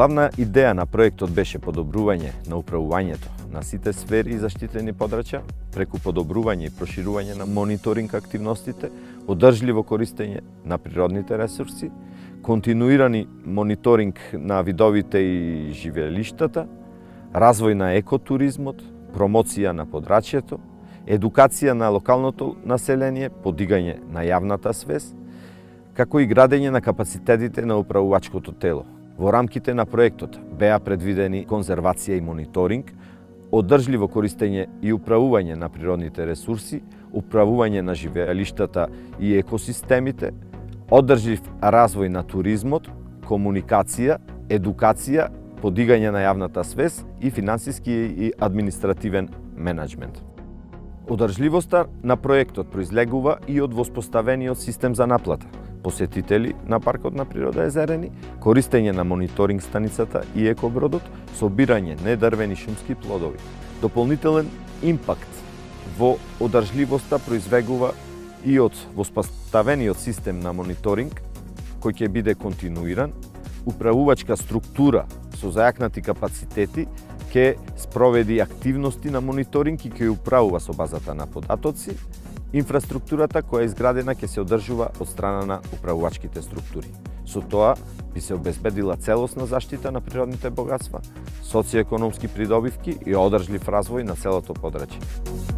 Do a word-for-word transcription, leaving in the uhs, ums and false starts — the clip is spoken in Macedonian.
Главна идеја на проектот беше подобрување на управувањето на сите сфери и заштитени подрачја, преку подобрување и проширување на мониторинг активностите, одржливо користење на природните ресурси, континуирани мониторинг на видовите и живеелиштата, развој на екотуризмот, промоција на подрачјето, едукација на локалното население, подигање на јавната свест, како и градење на капацитетите на управувачкото тело. Во рамките на проектот беа предвидени конзервација и мониторинг, одржливо користење и управување на природните ресурси, управување на живеелиштата и екосистемите, одржлив развој на туризмот, комуникација, едукација, подигање на јавната свест и финансиски и административен менеджмент. Одржливоста на проектот произлегува и од воспоставениот систем за наплата. Посетители на паркот на природа Езерени, користење на мониторинг станицата и екобродот, собирање недрвени шумски плодови. Дополнителен импакт во одржливоста произвегува и од воспоставениот систем на мониторинг, кој ќе биде континуиран, управувачка структура со зајакнати капацитети ќе спроведи активности на мониторинг и ќе управува со базата на податоци. Инфраструктурата која е изградена ќе се одржува од страна на управувачките структури. Со тоа би се обезбедила целосна заштита на природните богатства, социјоекономски придобивки и одржлив развој на целото подрачје.